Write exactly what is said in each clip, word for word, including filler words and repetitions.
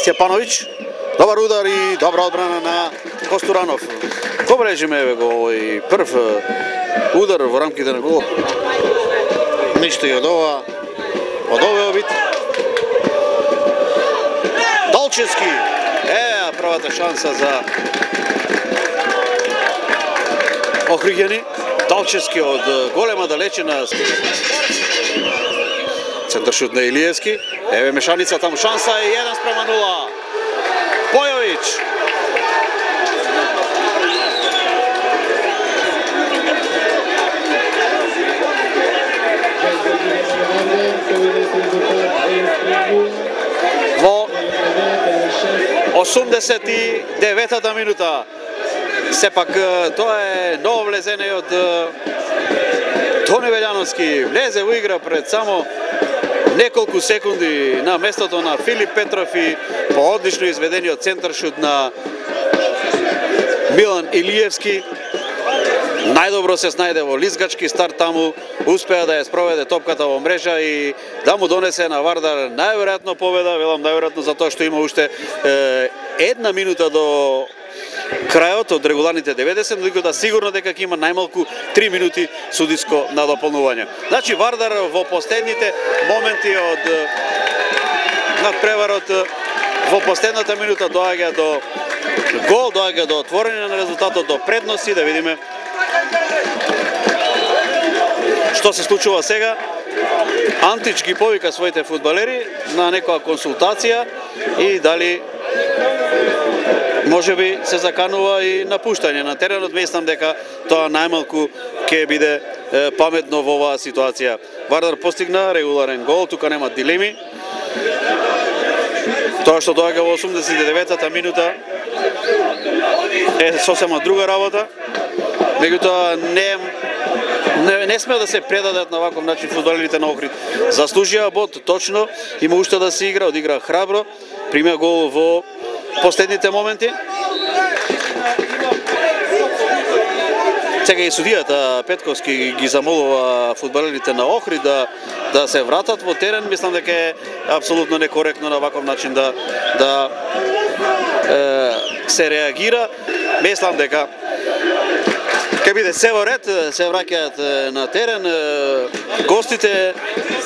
Степановиќ, добар удар и добра одбрана на Костуранов. Го брежиме го овој прв удар во рамките на гол. Ништо и од ова, од овој обид. Долчевски, е, првата шанса за Охриѓани. Долчевски од голема далечина. Центар шут на Илиевски. Еве мешаница таму, шанса е еден спрема нула. Бојовиќ. Во осумдесет и деветата минута. Сепак тоа е ново влезење од Тони Велјановски. Влезе во игра пред само неколку секунди на местото на Филип Петров и по одлично изведениот центар шут на Милан Илиевски. Најдобро се снајде во лизгачки старт таму, успеа да ја спроведе топката во мрежа и да му донесе на Вардар најверојатно победа, велам најверојатно затоа што има уште е, една минута до крајот од регуларните деветдесет, но да сигурно дека ќе има најмалку три минути судиско надополнување. Значи Вардар во последните моменти од надпреварот во последната минута доаѓа до гол, доаѓа до отворање на резултатот, до предности. Да видиме што се случува сега. Антич ги повика своите фудбалери на некоја консултација и дали може би се заканува и напуштање на теренот. Мислам дека тоа најмалку ќе биде е, паметно во оваа ситуација. Вардар постигна регуларен гол, тука нема дилеми. Тоа што доаѓа во осумдесет и деветата минута е сосема друга работа. Меѓутоа не не, не сме да се предадат на ваков начин фудбалерите на Охрид. Заслужија бод, точно, има уште да се игра, одигра храбро, примја гол во последните моменти. Сега и судијата Петковски ги замолува фудбалерите на Охрид да да се вратат во терен. Мислам дека е апсолутно некоректно на ваков начин да да е, се реагира. Мислам дека ќе биде се во ред, се враќаат на терен. Гостите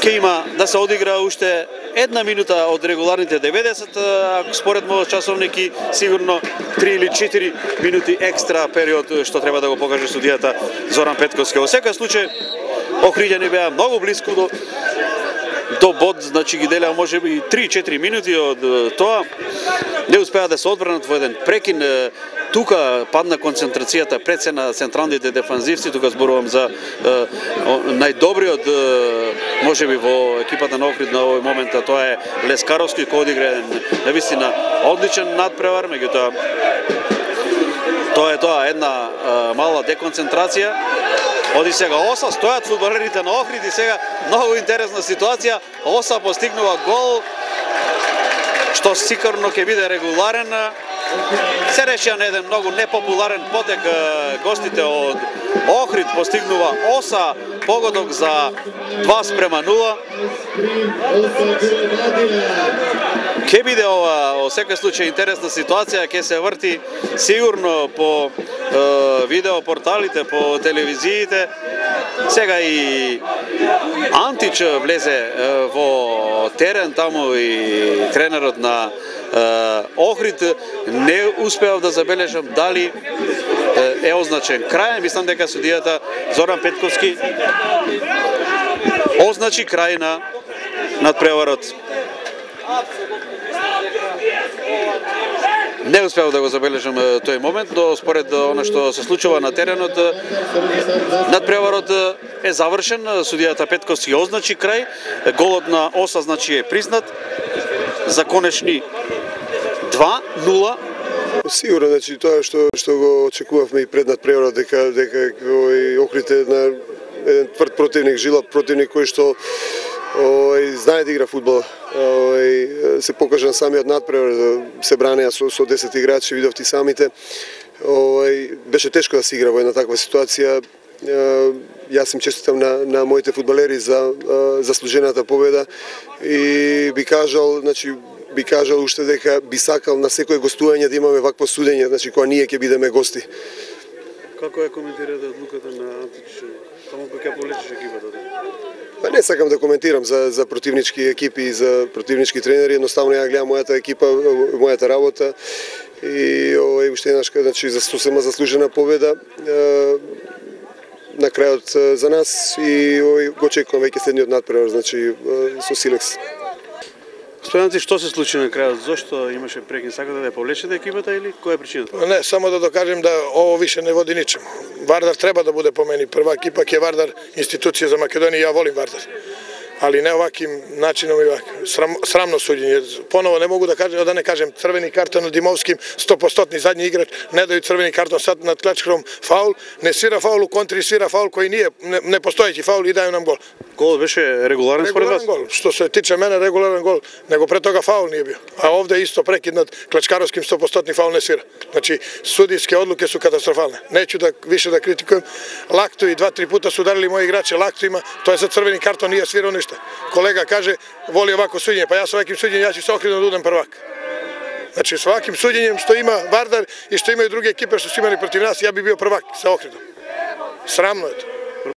ќе има да се одигра уште една минута од регуларните деветдесет, а според мојот часовник и сигурно три или четири минути екстра период што треба да го покаже судијата Зоран Петковски. Во секој случај Охриѓани беа многу блиску до до бод, значи ги делеа можеби три-четири минути од тоа. Не успеа да се одбранат во еден прекин. Тука падна концентрацијата пред се на централните дефанзивци. Тука зборувам за е, најдобриот е, можеби во екипата на Охрид на овој момент, а тоа е Лескаровски, кој одигра навистина одличен надпревар, меѓутоа тоа е тоа една е, мала деконцентрација. Оди сега Оса, стојат фудбалерите на Охрид и сега многу интересна ситуација. Оса постигнува гол што сигурно ќе биде регуларен. Се решија на еден многу непопуларен потек. Гостите од Охрид постигнува Оса погодок за два спрема нула. Ке биде ова во секој случај интересна ситуација, ќе се врти сигурно по е, видео порталите, по телевизиите. Сега и Антич влезе е, во терен таму и тренерот на Охрид. Не успеав да забележам дали е означен крај. Мислам дека судијата Зоран Петковски означи крај на надпреварот. Не успеав да го забележам тој момент, но според она што се случува на теренот, надпреварот е завршен. Судијата Петковски означи крај. Голот на Оса значи е признат за конечни два нула. Сигурно, значи тоа што што го очекувавме и пред надпреварот, дека дека овој Охрид е на еден тврд противник, жилав противник кој што Ој, знае да игра фудбал. Ој, се покажа на самиот надпревар, се бранеа со, со десет играчи, видовте самите. Ој, беше тешко да се игра во една таква ситуација. Јас им честитам на, на моите фудбалери за заслужената победа и би кажал, значи, би кажал уште дека би сакал на секој гостување да имаме вакво судење, значи кога ние ќе бидеме гости. Како ја коментирате одлуката на Античич? Само кој ќе полечиш екипата? Па не сакам да коментирам за за противнички екипи и за противнички тренери, едноставно ја гледам мојата екипа, мојата работа и овој уште еднаш, значи за сосема заслужена победа на крајот за нас и овој го очекувам веќе следниот надпревар, значи со Силекс. Господинци, што се случи на крајот? Зошто имаше прекин? Сакате да ја повлечете екипата или која е причината? Не, само да докажем да ово више не води ничем. Вардар треба да биде по мене првак, ипак е Вардар институција за Македонија, ја волим Вардар. Али не оваким начином и вака. Срам, срамно судење. Поново не могу да кажем, да не кажем црвени картон на Димовским, сто проценти задни играч, не дају црвени картон сад над Клечкром фаул, не свира фаул у контри, свира фаул кој ние не, не постоеќи фаул и дају нам гол. Гол беше регуларен според вас? Регуларен гол. Што се тиче мене, регуларен гол, него пред тога фаул не бил. А овде исто прекид над Клечкаровским сто проценти фаул не свира. Значи судиски одлуки су катастрофални. Неću да више да критикувам. Лакто и два-три пута су ударили мои играчи, Лакто има, тоа е за црвени картон, nije свирao ништа. Колега каже, воли овако судење, па јас оваким судењем, ја ќе се Охридом да удам првак. Значи, со оваким судењем што има Вардар и што имају други екипи што се имали против нас, ја би био првак со Охридом. Срамно е тоа.